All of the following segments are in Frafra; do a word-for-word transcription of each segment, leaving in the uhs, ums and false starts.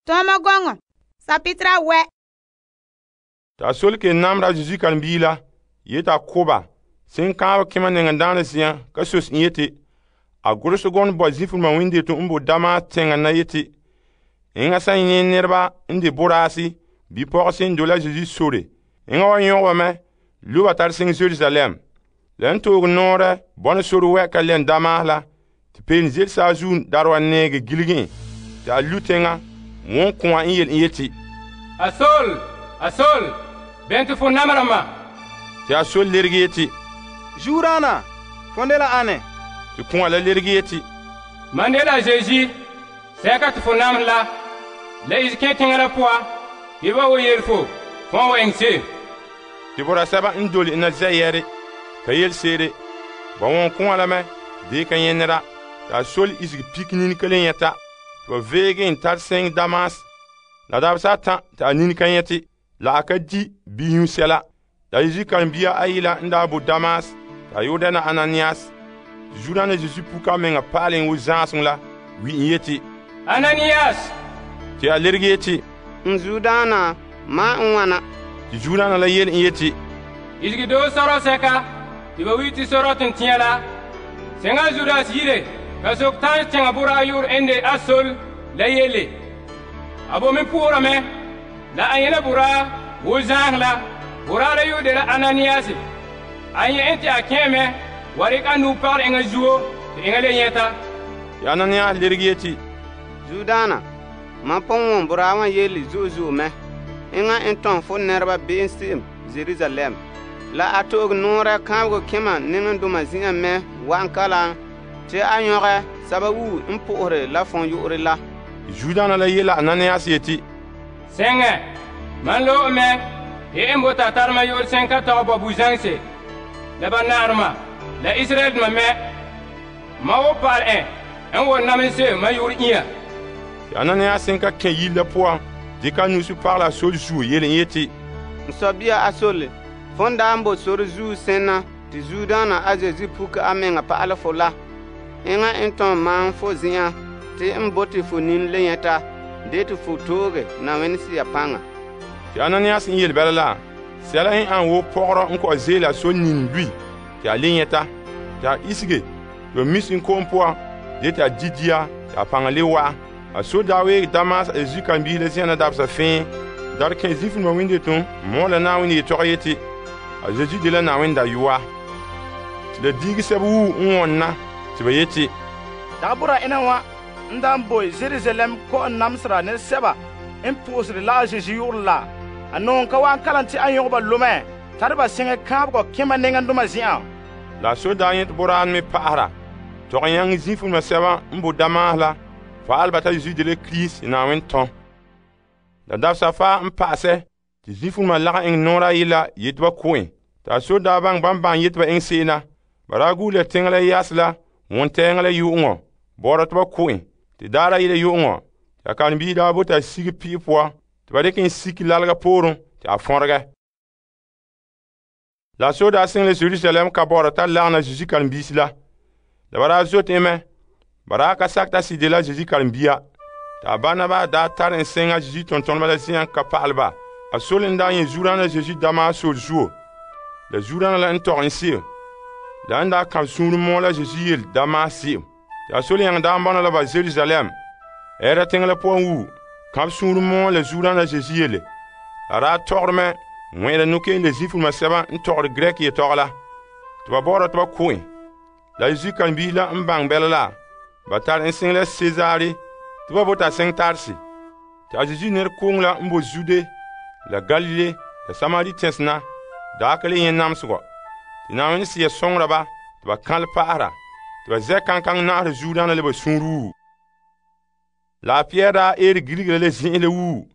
Tɔma gɔŋɔ, sapitra wɛ. Ta solke namra Zesu kan biila, yeta koba, sen kaab kema nengendaana ziyan, ka sos in yeti, a gursu gon bo zifurma winde to umbo dama tenga na yeti, inga san yin nirba indi borasi, bi pɔgsin dola Zesu sore, inga wa yɔgba me, luba tar sing Jerusalem. Len toog noore, bon sore wɛ ka len dama la, ti pen zel saazuun darwa nege gilgin, ta lutenga, won kuwa in yel in yeti, Asol, asol, bente fo namarama. Ti a sol lergi yeti, Jurana, fondela ane. Ti kuwa la lergi yeti, Mandela Jeji, seka te fo nam la, la izke tingala poa, iba wo yelfo, fon wo engse. Ti bora saba in doli ina zayere, ka yel sere, ba won kuwa la me, de ka yenera, ta sol isig pikinin kalen yeta, to vege in tar seng Damas, la dab sa tan ta nin kan yeti, la aka di biyun sela, la Jesu kan biya ayila nda bu Damas, ta yodana Ananias, Jurana Jesu puka menga palen wo zansung la, wi in yeti, Ananias, ti a lergi yeti, Nzudana, ma nwana. ti Jurana la yel in yeti, izgi do soro seka, iba witi soro tintiya la, senga Judas yire, ka sok tan tenga bura yur ende asol, la yele. Abo min pura me, la ayena bura, wo zang la, bura la yu de la Ananias. Anye ente a keme, warik anu par enga zuo, enga le yeta. ti Ananias lergi yeti, Judana, ma pon burawa yeli zuzu me. Inga enton fo nerba bin sim Jerusalem. La atog nora kamgo kema ningan duma zinga me wankala. Te anyore sababu impore la fon yure la. Judana la yela Ananias yeti, Senge, man lo me, e embo ta tarma yor senka ta bo buzangse. La banarma, la Israel ma me, ma wo par en, en wo namise ma yor iya. ti Ananias sen ka ken yil la poa, di ka nusu par la sol zu yel in yeti, Nsobia asole. Fonda ambo soro zu sena. Ti Judana azezi puka amenga pa ala fola. Inga enton man fo ziyan. Ti mboti fo nin lenyeta. De ti fo toge na wenisi ya panga. ti Ananias in yel bala la, sela in an wo pogro in ko zela so nin lui, ti a lenyeta, ti a isige, yo mis in kom poa, de ti a didia, ti a panga le wa, a so dawe Damas a Zesu kan bi le zena dab sa fin, dar ken zifin ma winde ton, mo la na winde to yeti, a Zesu de la na winda yuwa. Ti le digi sabu un wonna, ti ba yeti, Dabura ina wa ndan boy Jerusalem ko namsra ne seba in pusri la Jesu yurla anon ka wan kalanti an yoba lume tarba singe kabgo kema nengan duma zian la so da yet boran me pahara, to yang zifin ma seba mbo Damas la, fa albata Zesu de le Christ na win ton. La dab sa fa mpase, ti zifin ma laga ing nora yila yetba koin, ta so da bang bang bang yetba ing sena, baragu le tingla yasla, won tengla yu'ngo, bora tba koin, ti dara yile yu'ngo, ta kan bi da bota sigi pi poa, ti ba dekin siki lalga porun, ti a fonrege. La so da sing le Jerusalem ka bora ta lagna Zesu kan bisi la, la bara zot eme, bara ka sakta si de la Zesu kan biya, ta Barnaba da tar en senga Zesu tonton bala siyan ka palba, a solin da yin Jurana Zesu dama sol zuo, la Jurana la entor en sir, la enda kam sunu mo la Zesu yel dama sir, ta solin yang da mbana la ba Jerusalem, era tengla po wu, kam sunu mo la Jurana Zesu yele, la ra torme, mwen la nuke le zifu ma seba entor grek ye torla, tuba bora tuba koin, la Zesu kan bi la mbang bela la, batar en sing la Cesare, tuba bota sing tarsi, ta Zesu ner kong la mbo Jude, la Galile, la Samari tensna, da akale yen namsgo, ti na wen siya songra ba, tuba kan paara, tuba ze kankang na Judana le ba sunru. La Pierre da er giligele le zin le wu,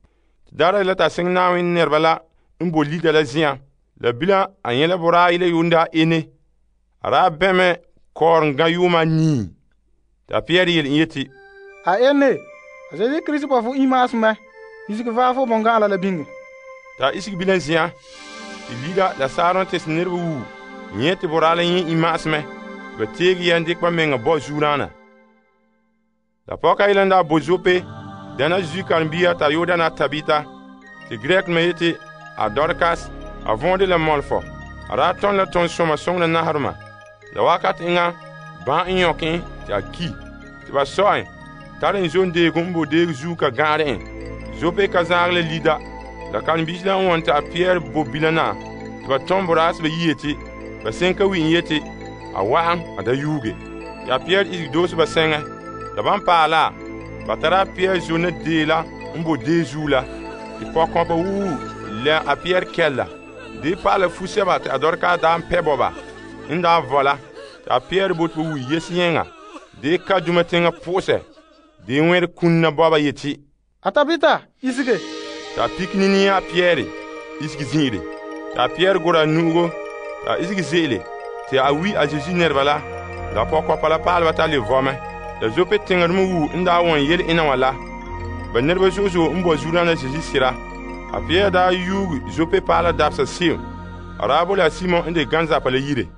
dara la ta sing na wen nerba la, mbo lida la zian, la bila a yen la bora ile yunda ene, ara beme kor nga yuma ni. Ta Pierre yel yeti, A ene, a Zesu Christ pa fu imas me, isik va fu bonga la bingi. Ta isik bilan zian, ti lida la saron tes nerba wu, nyeti bora la yen imas me, ba tegi yan dik pa menga bo Jurana. La poka ilanda bozope, Dana Zesu karen-bia t'a yoo dana Tabita, te Grek me yete a Dorcas, a vɔnde la mɔlefɔ. A daa tɔn la tɔn soma soŋora naharema. La wakat enŋa bãn n yɔk en te a ki. Te ba sɔ en, tare en zon deego n bo deeg zuo ka gãarɛ en. Zope ka zaag la lida. La karen-biisi la n wɔn te a Pierre bo bilana, te ba tɔn boraasɛ ba yi yeti, ba sen ka wi en yeti, a wa'an a da yuuge. Te a Pierre isege doose ba sɛŋɛ. La ban paɛ la, ba tara a Pierre zona dee la n bo dee zuo la. Te pɔkɔnpa wuu lɛ a Pierre kɛlla. Dee pa'ala fu-sɛba te a Dorcas daa n pɛ bo ba. N daa vɔ la, te a Pierre bote ba wuyi yese yẽŋa. Dee ka duma teŋa pʋgʋsɛ. Dee wẽr kunna bɔba yeti, A Tabita, isege. T'a pikini nia a Pierre isege zĩ'ire. T'a Pierre gora a nu'ugo, t'a isege ze'ele, te a wi a Zesu nɛreba la. La pɔkɔpa la paaleba t'a le vɔmɛ. La Zope teŋadoma wuu n daa wɔn yele ena wã la. Ba nɛreba zo'e zo'e n bo zuurã la Zesu sira. A Pierre daa yuugi Zope paala dabesa se'em. A daa bo la Simon n de ganzapa la yire.